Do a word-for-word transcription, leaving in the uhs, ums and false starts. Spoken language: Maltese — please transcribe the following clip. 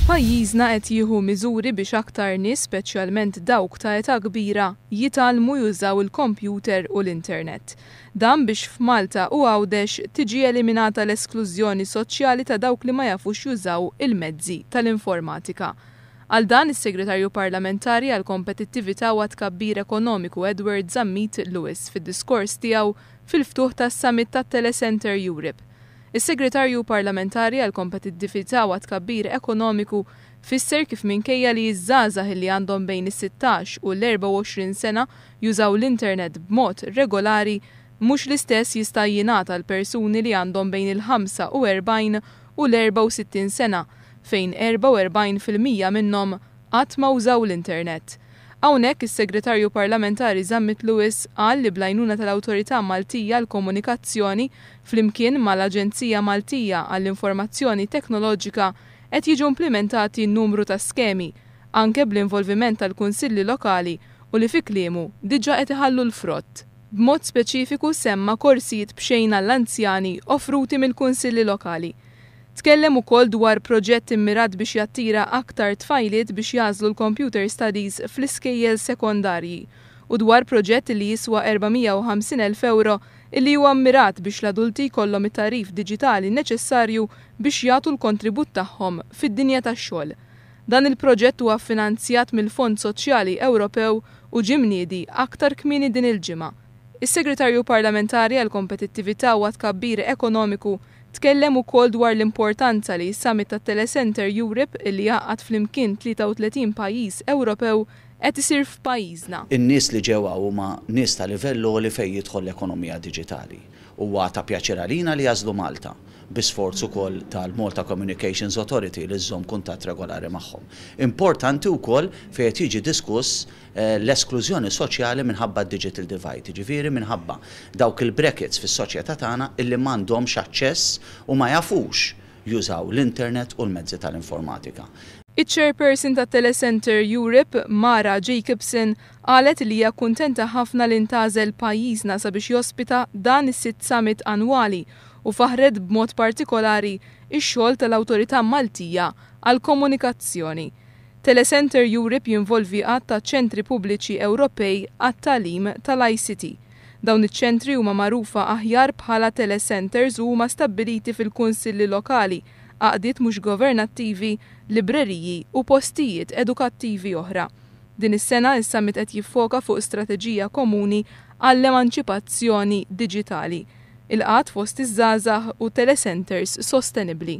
Pajjiżna qed jieħu miżuri biex aktar nies, speċjalment dawk ta' età kbira, jitgħallmu jużaw il-kompjuter u l-internet. Dan biex f'Malta u Għawdex tiġi eliminata l-esklużjoni soċjali ta' dawk li ma jafux jużaw il-mezzi tal-informatika. Għal dan, is-Segretarju Parlamentari għall-Kompetittività u għat-Tkabbir Ekonomiku Edward Zammit Lewis fid-diskors tiegħu fil-ftuħ tas-Summit tat-Telecenter Europe. Is-Segretarju Parlamentari għall-Kompetittività u għat-Tkabbir Ekonomiku fisser kif minkejja li ż-żgħażagħ li għandhom bejn is-sittax u l-erbgħa u għoxrin sena jużaw l-internet b'mod regolari, mhux l-istess jista' jingħata għal persuni li għandhom bejn il-ħamsa u erbgħin u l-erbgħa u sittin sena, fejn erbgħa u erbgħin fil-mija minnhom qatt ma użaw l-internet. Hawnhekk is-Segretarju Parlamentari Zammit Lewis qal li bl-għajnuna tal-Awtorità Maltija għall-Komunikazzjoni flimkien mal-Aġenzija Maltija għall-Informazzjoni Teknoloġika qed jiġu implementati numru ta' skemi, anke bl-involviment tal-kunsilli lokali u li fi kliemu diġà qed iħallu l-frott. B'mod speċifiku semma korsijiet b'xejn għall-anzjani offruti mill-kunsilli lokali. Tkellem ukoll dwar proġett immirat biex jattira aktar tfajliet biex jagħżlu l-computer studies fl-iskejjel sekondarji u dwar proġett li jiswa erba' mija u ħamsin elf euro illi huwa mmirat biex l-adulti jkollhom it-tagħrif diġitali neċessarju biex jagħtu l-kontribut tagħhom fid-dinja tax-xogħol. Dan il-proġett huwa ffinanzjat mill-Fond Soċjali Ewropew u ġie mniedi aktar kmieni din il-ġimgħa. Is-Segretarju Parlamentari għall-Kompetittività u għat-Tkabbir Ekonomiku tkellem ukoll dwar l-importanza li s-Summit tat-Telecenter Europe li jgħaqqad flimkien tlieta u tletin pajjiż Ewropew qed isir f'pajjiżna. In-nies li ġew hawn huma nies ta' livell għoli fejn jidħol l-ekonomija diġitali. Huwa ta' pjaċir għalina li jażlu Malta bi sforz ukoll tal-Malta Communications Authority li żżomm kuntatt regolari magħhom. Importanti wkoll fejn qed jiġi diskuss, eh, l-esklużjoni soċjali minħabba digital divide, jiġifieri minħabba dawk il-brackets fis-soċjetà tagħna illi m'għandhomx aċċess u ma jafux jużaw l-internet u l-mezzi tal-informatika. Iċ-chairperson ta' Telecenter Europe, Mara Jacobson, qalet li hija kuntenta ħafna li ntgħażel pajjiżna sabiex jospita dan is-sitt summit annwali u faħret b'mod partikolari ix-xogħol tal-Awtorità Maltija għall-Komunikazzjoni. Telecenter Europe jinvolvi għadd ta' ċentri pubbliċi Ewropej għat-tagħlim tal-I C T. Dawn iċ-ċentri huma magħrufa aħjar bħala telecenters u huma stabbiliti fil-kunsilli lokali, għaqdiet mhux governattivi, libreriji u postijiet edukattivi oħra. Din is-sena is-summit qed jiffoka fuq strateġija komuni għall-emanċipazzjoni diġitali, il-qgħad fost iż-żgħażagħ u telecenters sostenibbli.